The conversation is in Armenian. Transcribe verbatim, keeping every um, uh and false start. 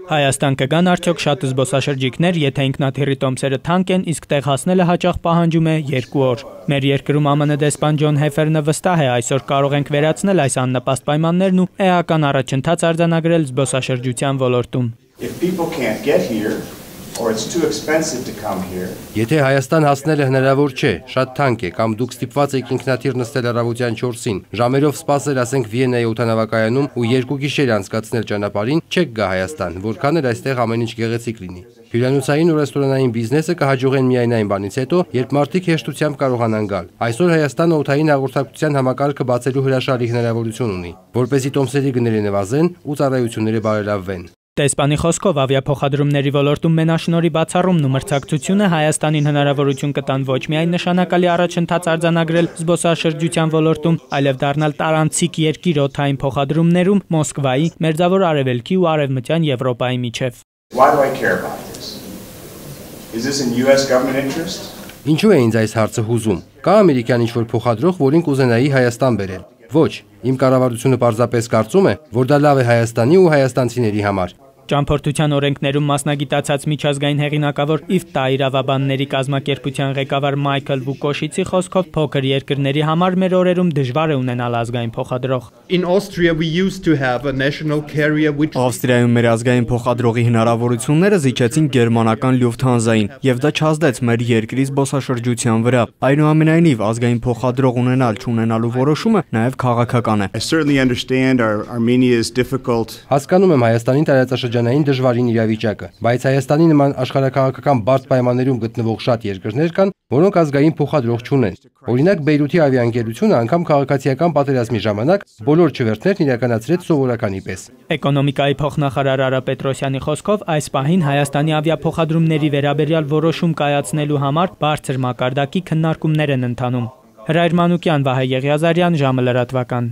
Հայաստան կգան արդյոք շատ զբոսաշրջիկներ, եթե ինքնաթիռի տոմսերը թանկ են, իսկ տեղ հասնելը հաճախ պահանջում է երկու օր։ Մեր երկրում Ա Մ Ն դեսպան Ջոն Հեֆերնը վստահ է, այսօր կարող ենք վերացնել այս աննպաստ պայմաններն ու էական առաջընթաց արձանագրել զբոսաշրջության ոլորտում։ Եթե Հայաստան հասնելը հնարավոր չէ, շատ թանկ է, կամ դուք ստիպված եք ինքնաթիռ նստել առավոտյան չորսին, ժամերով սպասել, ասենք Վիեննայի օդանավակայանում ու երկու գիշեր անցկացնել ճանապարհին, չեք գա Հայաստան, որքան էլ այստեղ ամեն ինչ գեղեցիկ լինի։ Հյուրանոցային ու ռեստորանային բիզնեսը կհաջողեն միայն այն բանից հետո, երբ մարդիկ հեշտությամբ կարողանան գալ։ Այսօր Հայաստանը օդային հաղորդակցության համակարգը բացելու հրաշալի հնարավորություն ունի, որպեսզի տոմսերի գները նվազեն ու ծառայությունները բարելավվեն։ Տեսպանի խոսքով ավիափոխադրումների ոլորտում մենաշնորհի բացառումն ու մրցակցությունը Հայաստանին հնարավորություն կտան ոչ միայն նշանակալի առաջընթաց արձանագրել զբոսաշրջության ոլորտում, այլև դառնալ տարանցիկ երկիր օդային փոխադրումներում Մոսկվայի, Մերձավոր Արևելքի ու Արևմտյան Եվրոպայի միջև։ Ինչու է ինձ այս հարցը հուզում։ Կա ամերիկյան ինչ-որ փոխադրող, որին կուզենայի Հայաստան բերել։ Ոչ, իմ կառավարությունը պարզապես կարծում է, որ դա լավ է Հայաստանի ու հայաստանցիների համար։ Ճամփորդության օրենքներում մասնագիտացած միջազգային հեղինակավոր Իֆտա իրավաբանների կազմակերպության ղեկավար Մայքլ Վուկոշիցի խոսքով փոքր երկրների համար մեր օրերում դժվար է ունենալ ազգային փոխադրող։ Ավստրիայում մեր ազգային փոխադրողի հնարավորությունները զիջեցին գերմանական Լյուֆթհանզային, եւ դա չազդեց մեր երկրի զբոսաշրջության վրա։ Այնուամենայնիվ, ազգային փոխադրող ունենալ չունենալու որոշումը նաեւ քաղաքական է։ Հասկանում եմ Հայաստանի տարածաշրջանային դժվարին իրավիճակը, բայց Հայաստանի նման աշխարհաքաղաքական բարդ պայմաններում գտնվող շատ երկրներ կան, որոնք ազգային փոխադրող չունեն։ Օրինակ Բեյրութի ավիաընկերությունը անգամ քաղաքացիական պատերազմի ժամանակ բոլոր չվերթներն իրականացրեց սովորականի պես։ Էկոնոմիկայի փոխնախարար Արա Պետրոսյանի խոսքով այս պահին Հայաստանի ավիափոխադրումների վերաբերյալ որոշում կայացնելու համար բարձր մակարդակի քննարկումներ են ընթանում։ Հրայր Մանուկյան, Վահե Եղիազարյան, ժամը լրատվական։